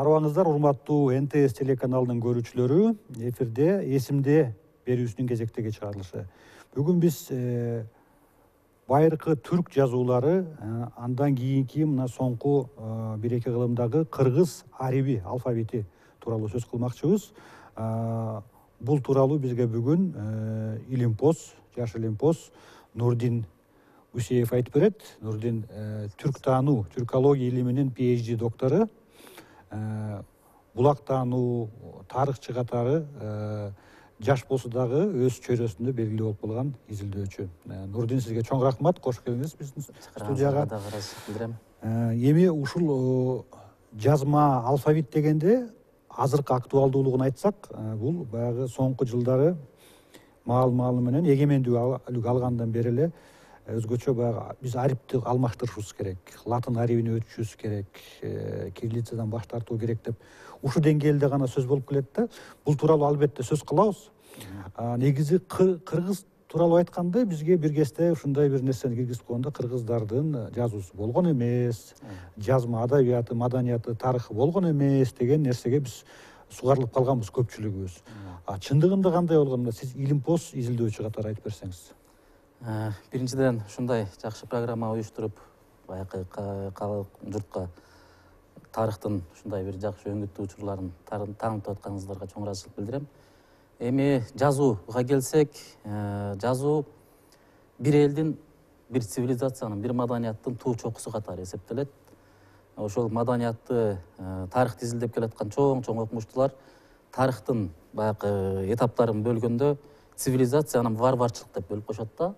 Арыбаңыздар, урматтуу НТС телеканалынын көрүүчүлөрү, эфирде эсимде берүүсүнүн кезектеги чыгарылышы. Бүгүн биз байыркы түрк жазуулары, андан кийинки мына соңку 1-2 кылымдагы кыргыз ариби алфавити тууралуу сөз кылмакчыбыз. Бул тууралуу бизге бүгүн илимпоз, жаш илимпоз Нурдин Усеев айтып берет. Нурдин түрк таануу, түркология илиминин PhD доктору. Булак таануу тарыхчы катары жаш болсо дагы өз чөйрөсүндө белгилүү болуп калган изилдөөчү. Нурдин, сизге чоң рахмат, кош келиңиз биздин студияга. Эми ушул жазма алфавит дегенде азыркы актуалдуулугун айтсак, бул баягы соңку жылдары маал-маалы менен эгемендүүлүк алгандан бери эле өзгөчө баягы биз арипти алмаштырышыбыз керек, латын арибине өтүшүбүз керек, кириллицадан баш тартуу керек деп ушул деңгээлде гана сөз болуп келет да. Бул тууралуу албетте сөз кылабыз. Негизи кыргыз тууралуу айтканда бизге бир кезде ушундай бир нерсени киргизип койгондо, кыргыздардын жазуусу болгон эмес, жазма адабияты, маданияты, тарыхы болгон эмес деген нерсеге биз сугарылып калганбыз көпчүлүгүбүз. Чындыгында кандай болгон? Сиз илимпоз изилдөөчү катары айтып берсеңиз. Биринчиден ушундай жакшы программа уюштуруп, баягы журтка тарыхтын ушундай бир жакшы өңүттүү учурларын таанытып атканыңыздарга чоң ыраазычылык билдирем. Эми жазууга келсек, жазуу бир элдин, бир цивилизациянын, бир маданияттын туу чокусу катары эсептелет. Ошол маданиятты, тарыхты изилдеп келаткан чоң окумуштуулар тарыхтын баягы этаптарын бөлгөндө цивилизациянын варварчылык деп бөлүп коюшат да.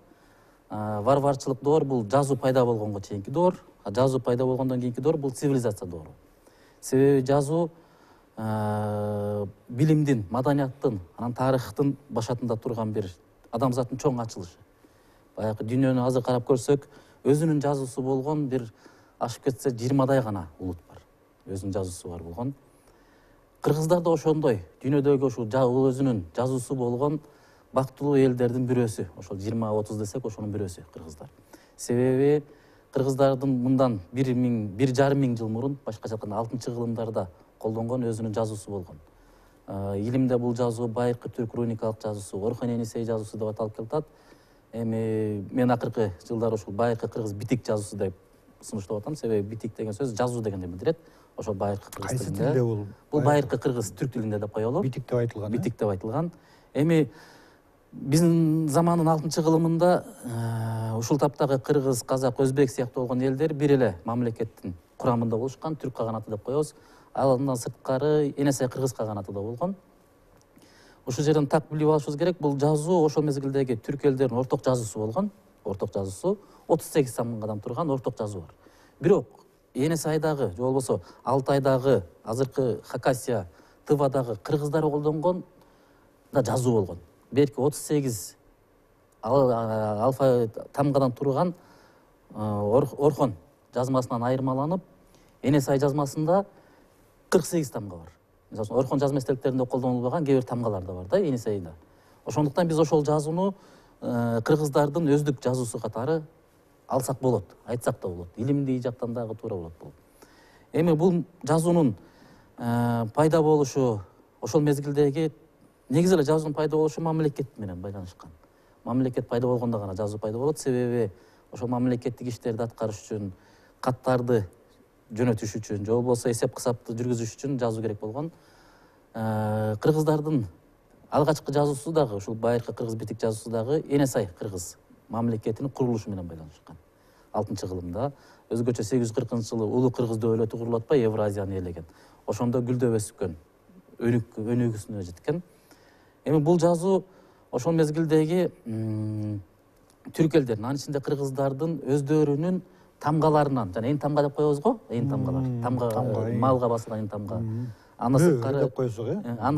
Варварчылык доор бул жазуу пайда болгонго чейинки доор, жазуу пайда болгондон кийинки доор бул цивилизация доору. Себеби жазуу билимдин, маданияттын, анан тарыхтын башатында турган бир адамзаттын чоң ачылышы. Баягы дүйнөнү азыр карап көрсөк, өзүнүн жазуусу болгон бир ашып кетсе 20дай гана улут бар. Өзүнүн жазуусу бар болгон. Кыргыздар да ошондой, дүйнөдөгү ушул өзүнүн жазуусу болгон бактылуу элдердин бирөөсү. Ошол 20-30 десек, ошонун бирөөсү кыргыздар. Себеби кыргыздардын мындан 1,5 миң жыл мурун, башкача айтканда 6-кылымдарда колдонгон өзүнүн жазуусу болгон. Илимде бул жазуу байыркы түрк руникалык жазуусу, Орхон Енисей жазуусу деп аталып келатат. Эми мен акыркы жылдары ушул байыркы кыргыз битик жазуусу деп сунуштап атам. Себеби битик деген сөз жазуу дегенди билдирет. Ошол байыркы кыргыз тилинде. Кайсы тилде бул? Бул байыркы кыргыз түрк тилинде деп коелу. Битик деп айтылган. Битик деп айтылган. Эми биздин замандын 6-кылымында ушул таптагы кыргыз, казак, өзбек сыяктуу болгон элдер бир эле мамлекеттин курамында болушкан, түрк каганаты деп коебуз. Андан сырткары Енесей кыргыз каганаты да болгон. Ушул жерден так билип алышыбыз керек, бул жазуу ошол мезгилдеги түрк элдеринин орток жазуусу болгон. Орток жазуусу 38 сангадан турган орток жазуу бар. Бирок Енесейдагы, же болбосо Алтайдагы, азыркы Хакасия, Тывадагы кыргыздар колдонгон да жазуу болгон. Берки 38 алфа тамгадан турган Орхон жазмасынан айырмаланып, Енесей жазмасында 48 тамга бар. Мисалы, Орхон жазма эстеликтеринде колдонулбаган кээ бир тамгалар да бар да Енесейде. Ошондуктан биз ошол жазууну кыргыздардын өздүк жазуусу катары алсак болот, айтсак да болот. Илимдий жактан дагы туура болот бул. Эми бул жазуунун пайда болушу, ошол мезгилдеги негизи эле жазуунун пайда болушу мамлекет менен байланышкан. Мамлекет пайда болгондо гана жазуу пайда болот. Себеби ошол мамлекеттик иштерди аткарыш үчүн, каттарды жөнөтүш үчүн, же болбосо эсеп кысапты жүргүзүш үчүн жазуу керек болгон. Кыргыздардын алгачкы жазуусу дагы, ушул байыркы кыргыз битик жазуусу дагы Енесей кыргыз мамлекетинин курулушу менен байланышкан. 6-кылымда өзгөчө 840-жылы улуу кыргыз дөөлөтү курулуп атпай, Евразияны ээлеген. Ошондо гүлдөп өскөн, өнүгүүсүнө жеткен. Эми бул жазуу ошол мезгилдеги түрк элдеринин, анын ичинде кыргыздардын өздөрүнүн тамгаларынан, жана эң тамга деп коебуз го, эң тамгалар. Тамга, малга басылган эң тамга. Андан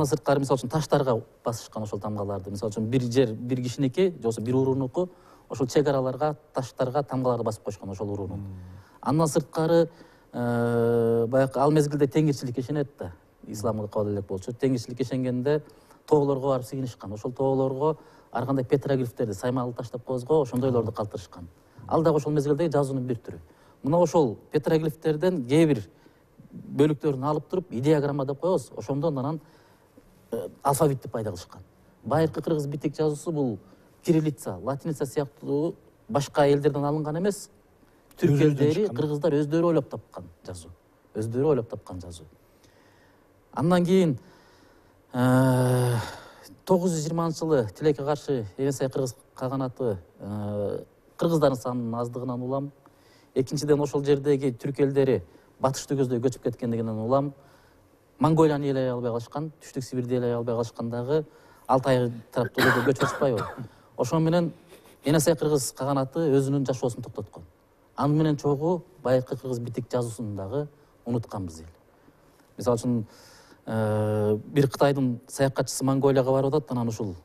сырткары, мисалы үчүн таштарга басышкан ошол тамгаларды. Мисалы үчүн бир жер, бир кишиники, же болбосо бир уруунуку ошол чек араларга, таштарга тамгаларды басып койшкон ошол уруунун. Андан сырткары баягы ал мезгилде теңирчиликке ишенет да. Исламга кабыл элек болчу. Теңирчиликке ишенгенде тоолорго барып сыйынышкан. Ошол тоолорго ар кандай петроглифтерди, саймалы таш деп коебуз го, ошондойлорду калтырышкан. Ал дагы ошол мезгилдеги жазуунун бир түрү. Мына ошол петроглифтерден кээ бир бөлүктөрүн алып туруп идеограмма деп коебуз, ошондон анан алфавитти пайда кылышкан. Байыркы кыргыз битик жазуусу бул кириллица, латиница сыяктуу башка элдерден алынган эмес, түрк элдери, кыргыздар өздөрү ойлоп тапкан жазуу. Өздөрү ойлоп тапкан жазуу. Андан кийин 920-жылы тилекке каршы Эне-Сай кыргыз каганаты кыргыздардын санынын аздыгынан улам, экинчиден ошол жердеги түрк элдери батышты көздөй көчүп кеткендигинен улам, Монголияны ээлей албай калышкан, Түштүк Сибирди ээлей албай калышкандагы Алтай тараптуу көчүп атпайбы. Ошон менен Эне-Сай кыргыз каганаты өзүнүн жашоосун токтоткон. Аны менен чогуу байыркы кыргыз битик жазуусун дагы унутканбыз эл. Мисалы үчүн бир Кытайдын саякатчысы Монголияга барып атат, анан ушул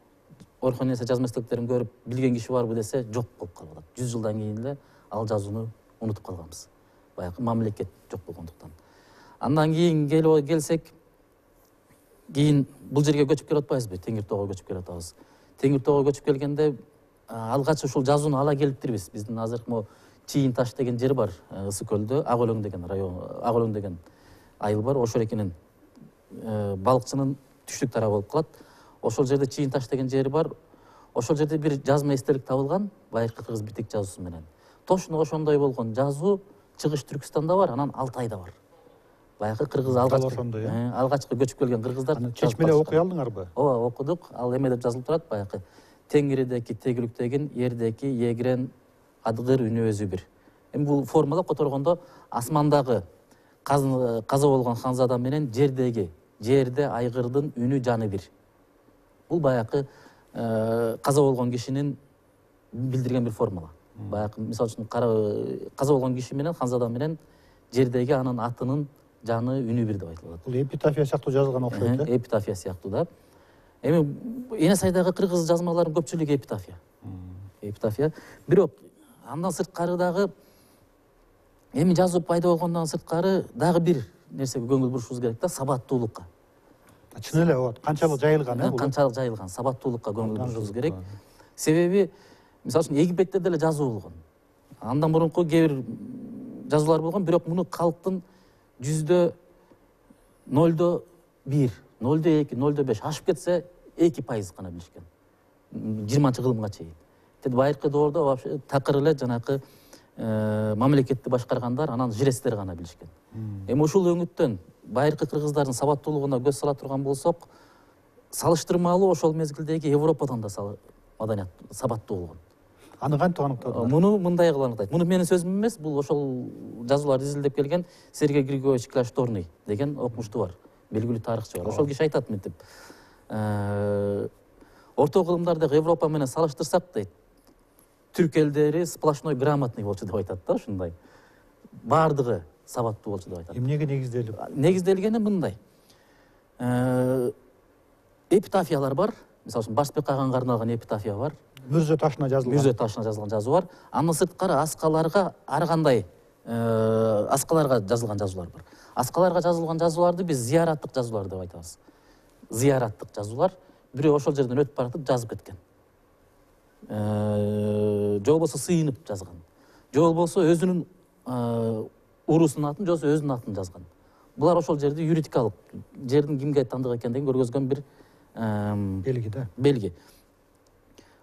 Орхон Эне-Сай жазма эстеликтерин көрүп билген киши барбы десе, жок болуп калып атат. 100 жылдан кийин эле ал жазууну унутуп калганбыз. Баягы мамлекет жок болгондуктан. Андан кийин келсек, кийин бул жерге көчүп келип атпайбызбы? Теңир тоого көчүп келип атабыз. Теңир тоого көчүп келгенде алгач ушул жазууну ала келиптирбиз. Биздин азыркы могу Чийин таш деген жер бар, Ысык көлдө, Ак Өлөң деген район, Ак Өлөң деген айыл бар. Ошол экенин балыкчынын түштүк тарабы болуп калат. Ошол жерде Чийин таш деген жери бар. Ошол жерде бир жазма эстелик табылган, байыркы кыргыз битик жазуусу менен. Точно ошондой болгон жазуу Чыгыш Түркстанда бар, анан Алтайда бар. Баягы кыргыз алгачкы көчүп келген кыргыздар. Чечип эле окуй алдыңарбы? Ооба, окудук. Ал эме деп жазылып турат, баягы Теңиридеки тегиликтегин, жердеки егирен адыгыр үнү өзү бир. Эми бул формалап которгондо асмандагы каза болгон ханзада менен жерде айгырдын үнү жаны бир. Бул баягы каза болгон кишинин билдирген бир формула. Баягы мисалы үчүн каза болгон киши менен ханзада менен жердеги анын атынын жаны үнү бир деп айтылат. Бул эпитафия сыяктуу жазылган окшойт, э? Эпитафия сыяктуу да. Эми Эне-Сайдагы кыргыз жазмаларынын көпчүлүгү эпитафия. Бирок андан сырткары дагы эми жазуу пайда болгондон сырткары дагы бир нерсеге көңүл бурушубуз керек да, сабаттуулукка. Чын эле вот канчалык жайылган, э? Канчалык жайылган, сабаттуулукка көңүл бурушубуз керек. Себеби мисалы үчүн Египетте деле жазуу болгон. Андан мурунку кээ бир жазуулар болгон, бирок муну калктын 100%, 0.1, 0.2, 0.5 ашып кетсе 2% гана билишкен. 20-кылымга чейин. Байыркы доордо вообще такыр эле жанакы мамлекетти башкаргандар, анан жрецтер гана билишкен. Эми ушул өңүттөн байыркы кыргыздардын сабаттуулугуна көз сала турган болсок, салыштырмалуу ошол мезгилдеги Европадан да маданият сабаттуу болгон. Аны кантип аныктадыңар? Муну мындай кылып аныктайт. Муну менин сөзүм эмес, бул ошол жазууларды изилдеп келген Сергей Григорьевич Кляшторный деген окумуштуу бар, белгилүү тарыхчы бар. Ошол киши айтат мынтип: орто кылымдардагы Европа менен салыштырсак дейт, түрк элдери сплошной грамотный болчу деп айтат да, ушундай. Бардыгы сабаттуу болчу деп айтат. Эмнеге негизделип? Негизделгени мындай. Эпитафиялар бар. Мисалы үчүн Башбек Каганга арналган эпитафия бар. Мүрзө ташына жазылган жазуу бар. Андан сырткары аскаларга ар кандай аскаларга жазылган жазуулар бар. Аскаларга жазылган жазууларды биз зыяраттык жазуулар деп айтабыз. Зыяраттык жазуулар бирөө ошол жерден өтүп баратып жазып кеткен. Же болбосо сыйынып жазган. Же болбосо өзүнүн уруусунун атын, же болбосо өзүнүн атын жазган. Булар ошол жерде юридикалык, жердин кимге тандык экендигин көргөзгөн бир белги да. Белги.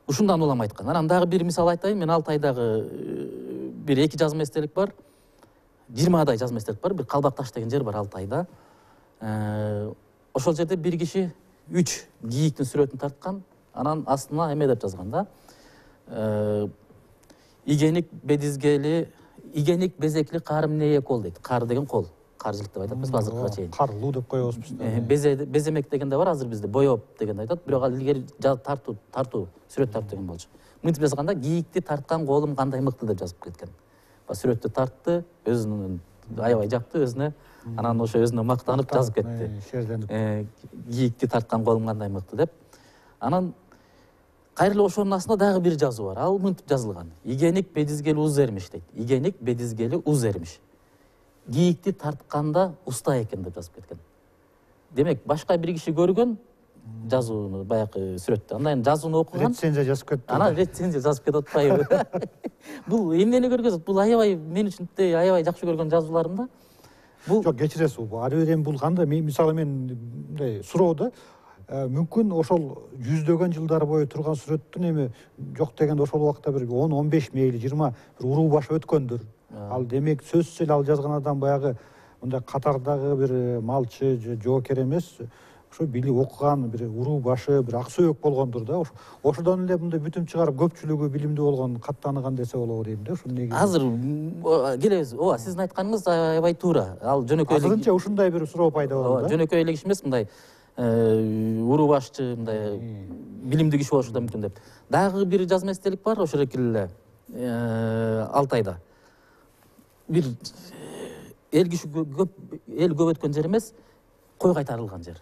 Ушундан улам айткан. Анан дагы бир мисал айтайын. Мен Алтайдагы бир 2 жазма эстелик бар. 20 жазма эстелик бар. Бир Калбак таш деген жер бар Алтайда. Ошол жерде бир киши 3 кийиктин сүрөтүн тарткан. Анан астына эме деп жазган да. Игеник безекли карым нее кол дейт. Кар деген кол. Каржылык деп айтат, биз азыркыга чейин. Карлуу деп коебуз. Беземек деген да бар, азыр бизде боёп деген айтат. Бирок ал илгери тартуу, сүрөт тартуу деген болчу. Мынтип жазганда кийикти тарткан колум кандай мыкты деп жазып кеткен. Сүрөттү тартты, өзүнүн аябай жакты өзүнө. Анан ошо өзүнө мактанып жазып кетти. Кийикти тарткан колум кандай мыкты деп. Анан кайрылы ошонун астында дагы бир жазуу бар. Ал мынтип жазылган: Игеник бедизгели уз эрмиш дейт. Игеник бедизгели уз эрмиш. Кийикти тартканда уста экен деп жазып кеткен. Демек, башка бир киши көргөн жазууну, баягы сүрөттү. Андан жазууну окуган. Рецензия жазып кетти. Анан рецензия жазып кетип атпайбы? Бул эмнени көргөзөт? Бул аябай мен үчүн аябай жакшы көргөн жазууларым да. бул жок, кечиресиз, ары бери эми бул кандай, мисалы мен мындай суроо да, мүмкүн ошол жүздөгөн жылдар бою турган сүрөттүн эми жок дегенде ошол убакта бир 10-15 мейли 20 бир уруу баш өткөндүр. Ал демек сөзсүз эле ал жазган адам баягы мындай катардагы бир малчы же жоокер эмес, ошо билип окуган бир уруу башы, бир ак сөөк болгондур да. Ошодон эле мындай бүтүм чыгарып көпчүлүгү билимдүү болгон, каттаныган десе болобу дейм да. Ушул негизи. Азыр келебиз. Ооба, сиздин айтканыңыз аябай туура. Ал жөнөкөй Азырынча ушундай бир суроо пайда болду да. Жөнөкөй эле киши эмес, мындай уруу башчы, мындай билимдүү киши болушу да мүмкүн деп. Дагы бир жазма эстелик бар, ошол эле Алтайда. Бир эл киши көп, эл көп өткөн жер эмес, кой кайтарылган жер.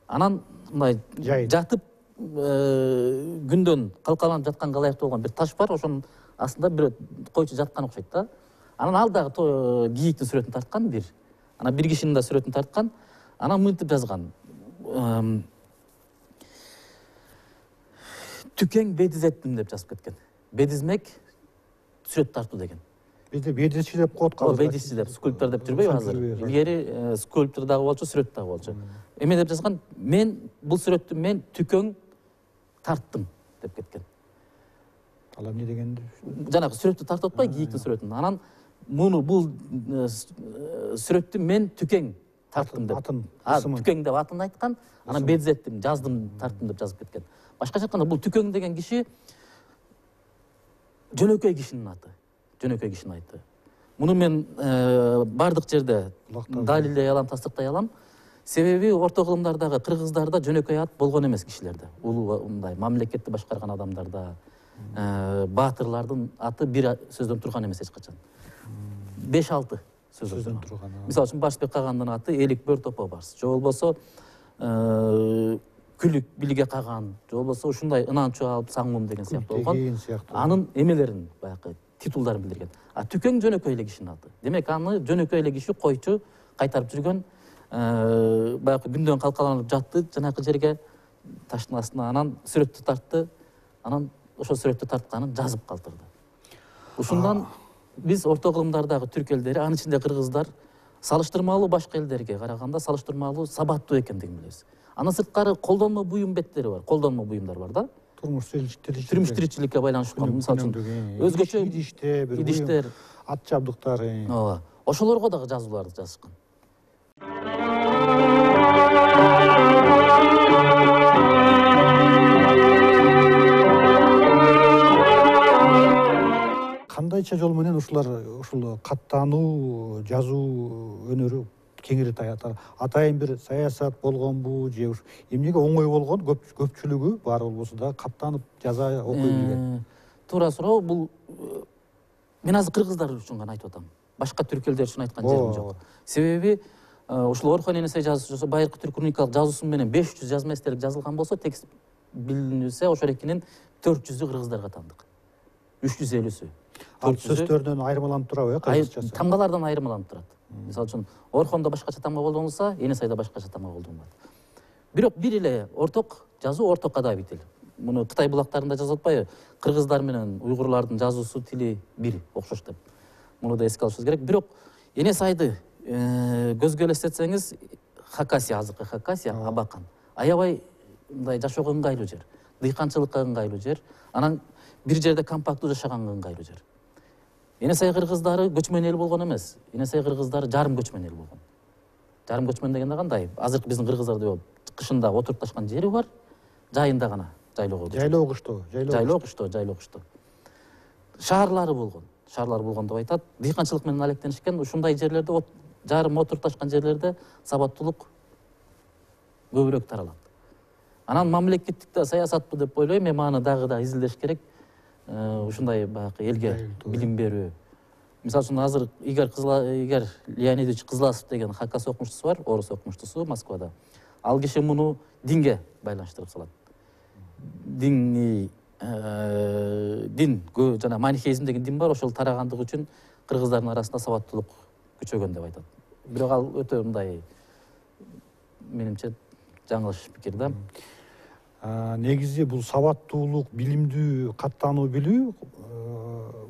Анан мындай жатып күндөн калкаланып жатканга ылайыктуу болгон бир таш бар, ошонун астында бир койчу жаткан окшойт да. Анан ал дагы кийиктин сүрөтүн тарткан бир. Анан бир кишинин да сүрөтүн тарткан. Анан мынтип жазган. Түкең бедизеттим деп жазып кеткен. Бедизмек сүрөт тартуу деген. Бизде бедизчи деп коет калды. Бедизчи деп, скульптор деп жүрбөйбү азыр? Илгери скульптор дагы болчу, сүрөт дагы болчу. Эме деп жазган, мен бул сүрөттү мен түкөң тарттым деп кеткен. Ал эмне дегенди? Жанагы сүрөттү тартып атпай, кийиктин сүрөтүн. Анан бул сүрөттү мен түкең тарттым деп. Түкең деп атын айткан, анан бедизеттим, жаздым, тарттым деп жазып кеткен. Башкача айтканда, бул түкөң деген киши жөнөкөй кишинин аты. Жөнөкөй кишинин айты. Муну мен бардык жерде далилдей алам, тастыктай алам. Себеби орто кылымдардагы кыргыздарда жөнөкөй ат болгон эмес кишилерде. Улуу мындай мамлекетти башкарган адамдарда, баатырлардын аты бир сөздөн турган эмес эч качан. 5-6 сөздөн турган. Мисалы үчүн Башбек Кагандын аты Элик бөр топо барс. Же болбосо Күлүк билге каган, же болбосо ушундай ынанчу алып саңмым деген сыяктуу болгон. Анын эмелерин баягы титулдарын билдирген. А түкөң жөнөкөй эле кишинин аты. Демек аны жөнөкөй эле киши койчу кайтарып жүргөн, баягы күндөн калкаланып жатты жанакы жерге таштын астына, анан сүрөттү тартты, анан ошол сүрөттү тартканын жазып калтырды. Ушундан биз орто кылымдардагы түрк элдери, анын ичинде кыргыздар, салыштырмалуу башка элдерге караганда салыштырмалуу сабаттуу экендигин билебиз. Андан сырткары колдонмо буюм беттери бар, колдонмо буюмдар бар да. Турмуш тиричиликке байланыштуу, мисалы үчүн өзгөчө идиштер, ат жабдыктар. Ооба. Ошолорго дагы жазууларды жазышкан. Кандайча жол менен ушул каттануу, жазуу өнөрү кеңири атайын бир саясат болгонбу же эмнеге оңой болгон, көпчүлүгү бар болбосо да каттанып жаза окуй билген? Туура суроо. Бул мен азыр кыргыздар үчүн гана айтып атам. Башка түрк элдер үчүн айткан жерим жок. Себеби ушул Орхон Энесей жазуучусу байыркы түрк руникалык жазуусу менен 500 жазма эстелик жазылган болсо, текст билинсе ошол экинин 400-ü кыргыздарга таандык. 350-сү. Ал сөздөрдөн айырмаланып турабы, кыргызчасы? Тамгалардан айырмаланып турат. Мисалы үчүн Орхондо башкача тамга колдонулса, Энесейде башкача тамга колдонулат. Бирок бир эле орток жазуу, орток адабий тил. Муну Кытай булактарында жазып атпайбы? Кыргыздар менен уйгурлардын жазуусу тили бир, окшош деп. Муну да эске алышыбыз керек. Бирок Энесайды көзгө элестетсеңиз, Хакасия, азыркы Хакасия, Абакан аябай мындай жашоого ыңгайлуу жер, дыйканчылыкка ыңгайлуу жер, анан бир жерде компактуу жашаганга ыңгайлуу жер. Энесей кыргыздары көчмөн эл болгон эмес. Энесей кыргыздары жарым көчмөн эл болгон. Жарым көчмөн дегенде кандай? Азыркы биздин кыргыздарда кышында отурукташкан жери бар, жайында гана жайлоого. Жайлоо кышто. Шаарлары болгон деп айтат. Дыйканчылык менен алектенишкен, ушундай жерлерде, жарым отурукташкан жерлерде сабаттуулук көбүрөөк таралат. Анан мамлекеттик саясатпы деп ойлойм, эми аны дагы да изилдеш керек. Ушундай баягы элге билим берүү. Мисалы үчүн азыр Игорь Леонидович Кызласов деген Хакас окумуштусу бар, орус окумуштусу Москвада. Ал киши муну динге байланыштырып салат. Дин жана манихеизм деген дин бар, ошол тарагандыгы үчүн кыргыздардын арасында сабаттуулук күчөгөн деп айтат. Бирок ал өтө мындай менимче жаңылыш пикир да. негизи бул сабаттуулук, билимдүү каттануу билүү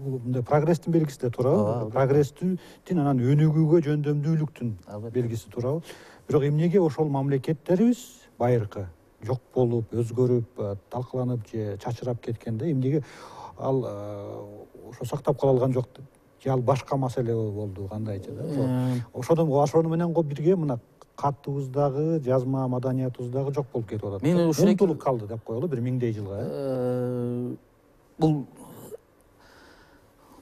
бул мындай прогресстин белгиси да туурабы? Прогресстин анан өнүгүүгө жөндөмдүүлүктүн белгиси туурабы? Бирок эмнеге ошол мамлекеттерибиз байыркы жок болуп, өзгөрүп, талкаланып же чачырап кеткенде эмнеге ал ошо сактап кала алган жок? Же ал башка маселе болду кандайчы да? Ошону менен бирге мына катыбыздагы, жазма маданиятыбыздагы жок болуп кетип атат. Мен ушул унутулуп калды деп коелу бир миңдей жылга. Бул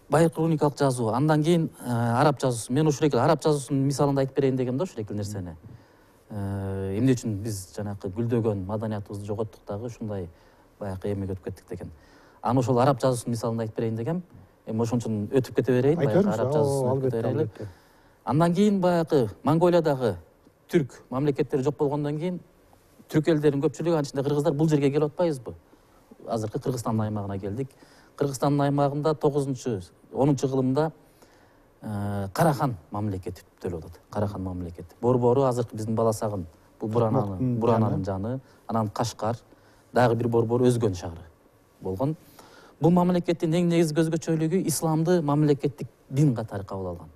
байыркы руникалык жазуу, андан кийин араб жазуусу. Мен ушул араб жазуусунун мисалында айтып берейин дегем да ушул нерсени. Эмне үчүн биз жанакы гүлдөгөн маданиятыбызды жоготтук дагы ушундай баягы эмеге өтүп кеттик деген. Аны ошол араб жазуусунун мисалында айтып берейин дегем. Эми ошон үчүн өтүп кете берейин, баягы араб жазуусун өтүп кете берели. Андан кийин баягы Монголиядагы түрк мамлекеттери жок болгондон кийин түрк элдеринин көпчүлүгү, анын ичинде кыргыздар бул жерге келип атпайбызбы? Азыркы Кыргызстандын аймагына келдик. Кыргызстандын аймагында 9-10 кылымда Карахан мамлекети төлөп атат. Карахан мамлекети. Борбору азыркы биздин Баласагын, бул Бурананын жаны, анан Кашкар, дагы бир борбор Өзгөн шаары болгон. Бул мамлекеттин эң негизги өзгөчөлүгү исламды мамлекеттик дин катары кабыл алган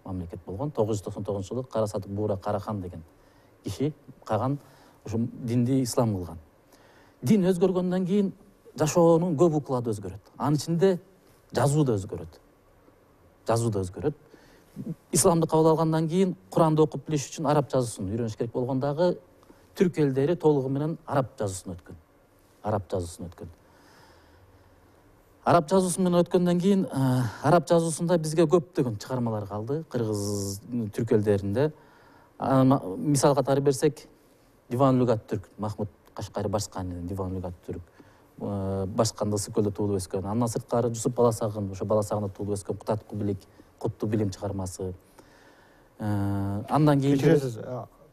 мамлекет болгон. 999-жылы Карасатык Буура Карахан деген киши каган ушул динди ислам кылган. Дин өзгөргөндөн кийин жашоонун көп уклады өзгөрөт. Анын ичинде жазуу да өзгөрөт. Исламды кабыл алгандан кийин Куранды окуп билиш үчүн араб жазуусун үйрөнүш керек болгондагы түрк элдери толугу менен араб жазуусуна өткөн. Араб жазуусу менен өткөндөн кийин араб жазуусунда бизге көптөгөн чыгармалар калды, кыргыз түрк элдеринде. Мисал катары берсек, Диван Люгат түрк, Махмуд Кашкари Башканинин Диван Люгат түрк, Башканда Ысыкөлдө туулуп өскөн. Андан сырткары Жусуп Баласагын, ошо Баласагында туулуп өскөн Куттуу билим чыгармасы. Андан кийин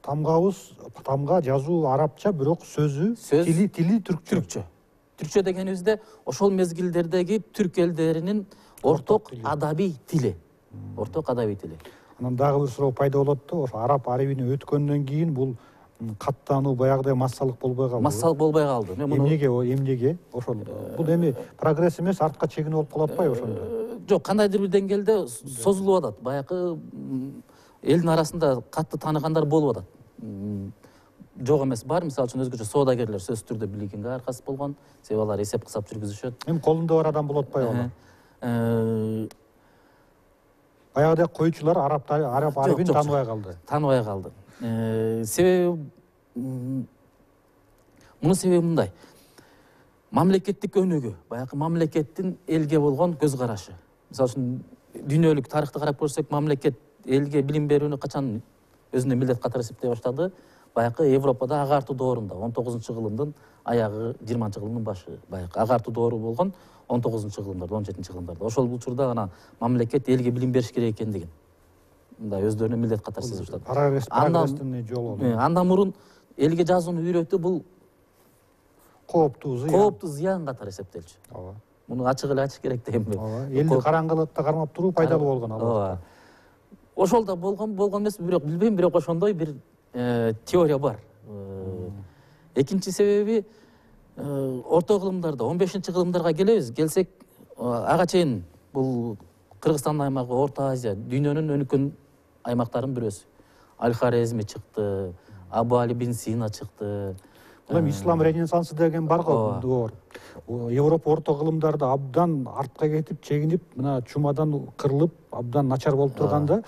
тамга жазуу арабча, бирок тили түркчө. Түркчө дегенибизде ошол мезгилдердеги түрк элдеринин орток адабий тили. Анан дагы бир суроо пайда болот да, ошо араб арабине өткөндөн кийин бул каттануу баягыдай массалык болбой калды. Эмнеге? Ошол бул эми прогресс эмес, артка чегинип болуп калып атпайбы ошондо? Жок, кандайдыр бир деңгээлде созулуп атат. Баягы элдин арасында катты тааныгандар болуп атат. Жок эмес бар, мисалы үчүн өзгөчө соодагерлер сөзсүз түрдө билигинге аркасы болгон, себеби алар эсеп кысап жүргүзүшөт. Эми колунда бар адам болуп атпайбы аны? Баягыдай койчулар араб арабин тааныбай калды. Себеби мунун себеби мындай. Мамлекеттик өнүгүү, баягы мамлекеттин элге болгон көз карашы. Мисалы үчүн дүйнөлүк тарыхты карап көрсөк, мамлекет элге билим берүүнү качан өзүнө милдет катары эсептей баштады? Баягы Европада агартуу доорунда, 19-кылымдын аягы, 20-кылымдын башы, баягы агартуу доору болгон 19-кылымдарда, 17-кылымдарда. Ошол учурда гана мамлекет элге билим бериш керек экендигин мындай өздөрүнө милдет катары сезип баштады. Прогресстин жолу. Андан мурун элге жазууну үйрөтүү бул кооптуу зыян катары эсептелчү. Ооба. Муну ачык эле айтыш керек дейм мен. Ооба. Элди караңгылыкта кармап туруу пайдалуу болгон ал. Ооба. Ошол да болгон эмес, бирок билбейм, бирок ошондой бир теория бар. Экинчи себеби орто кылымдарда, 15-кылымдарга келсек, ага чейин бул Кыргызстандын аймагы, Орто Азия, дүйнөнүн өнүккөн аймактарынын бирөөсү. Аль-Хорезми чыкты, Абу Али бин Сина чыкты. Бул эми ислам ренессансы деген бар го. Европа орто кылымдарда абдан артка кетип, чегинип, мына чумадан кырылып, абдан начар болуп турганда,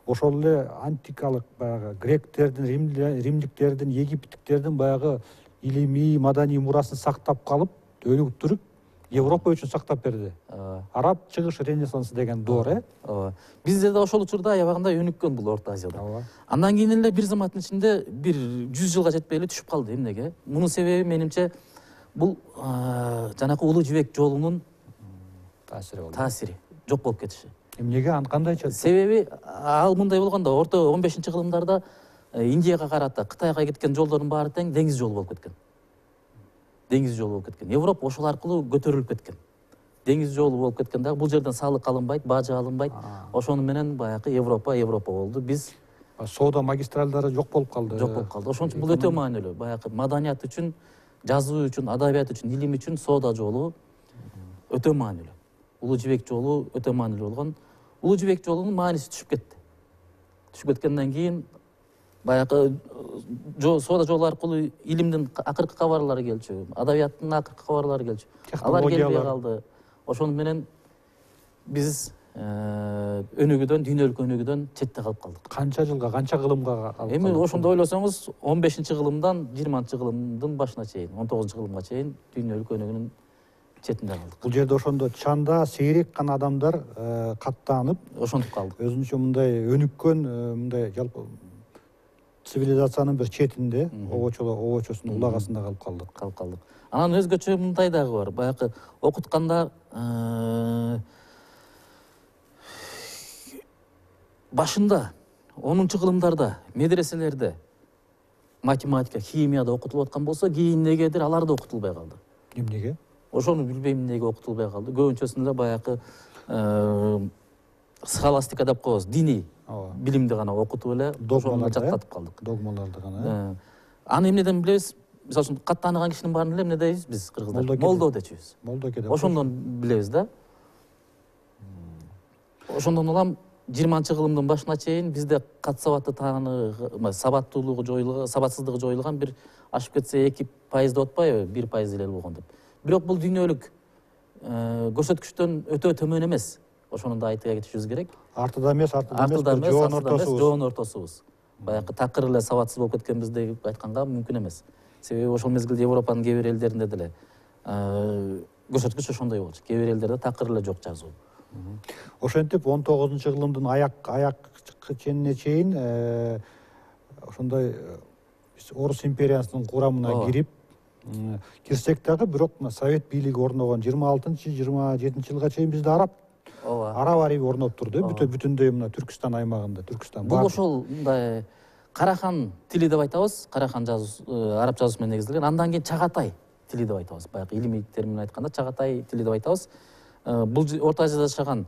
ошол эле антикалык баягы гректердин, римдиктердин, египтиктердин баягы илимий, маданий мурасын сактап калып, өнүктүрүп, Европа үчүн сактап берди. Араб чыгыш ренессансы деген доор, Бизде да ошол учурда аябагында өнүккөн бул Орто Азияда. Андан кийин эле бир заматтын ичинде бир 100 жылга жетпей эле түшүп калды. Эмнеге? Мунун себеби менимче бул жанакы улуу жибек жолунун таасири жок болуп кетиши. Эмнеге? Аны кандайча? Себеби ал мындай болгондо, орто 15-кылымдарда Индияга карата, Кытайга кеткен жолдордун баары тең деңиз жолу болуп кеткен. Европа ошол аркылуу көтөрүлүп кеткен. Деңиз жолу болуп кеткен дагы, бул жерден салык алынбайт, бажы алынбайт. Ошону менен баягы Европа болду. Биз соода магистралдары жок болуп калды. Ошон үчүн бул өтө маанилүү. Баягы маданият үчүн жазуу үчүн, адабият үчүн, илим үчүн соода жолу өтө маанилүү. Улуу жибек жолу өтө маанилүү болгон. Улуу жибек жолунун мааниси түшүп кетти. Түшүп кеткенден кийин баягы соода жолу аркылуу илимдин акыркы кабарлары келчү, адабияттын акыркы кабарлары келчү. Алар келбей калды. Ошону менен биз өнүгүүдөн, дүйнөлүк өнүгүүдөн четте калып калдык. Канча жылга, канча кылымга алып калдык? Эми ошондо ойлосоңуз, 15-кылымдан 20-кылымдын башына чейин, 19-кылымга чейин дүйнөлүк өнүгүүнүн четинде калдык. Бул жерде ошондо чанда сейрек гана адамдар каттанып, ошентип калдык. Өзүнчө мындай өнүккөн, мындай жалпы цивилизациянын бир четинде, обочосунун улагасында калып калдык. Анан өзгөчө мындай дагы бар. Баягы окутканда башында 10-кылымдарда медреселерде математика, химияда окутулуп аткан болсо, кийин негедир алар да окутулбай калды. Эмнеге? Ошону билбейм эмнеге окутулбай калды. Көбүнчөсүндө баягы схоластика деп коебуз, диний билимди гана окутуп эле ошону жаттатып калдык. Догмаларды гана. Аны эмнеден билебиз? Мисалы үчүн кат тааныган кишинин баарын эле эмне дейбиз биз кыргыздар? Молдо дечүбүз. Молдоке деп. Ошондон билебиз да. Ошондон улам 20-кылымдын башына чейин бизде кат сабатты сабаттуулугу жоюлган, сабатсыздыгы жоюлган бир ашып кетсе 2% деп атпайбы, 1% эле болгон деп. Бирок бул дүйнөлүк көрсөткүчтөн өтө төмөн эмес. Ошону да айта кетишибиз керек. Артыда эмес, жоон ортосубуз. Баягы такыр эле сабатсыз болуп кеткенбиз деп айтканга мүмкүн эмес. Себеби ошол мезгилде Европанын кээ бир элдеринде деле көрсөткүч ошондой болчу. Кээ бир элдерде такыр эле жок жазуу. Ошентип 19-кылымдын аяк ченине чейин ошондой Орус империясынын курамына кирсек дагы, бирок Совет бийлиги орногон 26-27-жылга чейин бизде араб ариби орноп турду, бүтүндөй мына Түркүстан аймагында, Бул ошол мындай Карахан тили деп айтабыз, Карахан жазуусу, араб жазуусу менен негизделген. Андан кийин Чагатай тили деп айтабыз. Баягы илимий термин айтканда Чагатай тили деп айтабыз. Бул Орто Азияда жашаган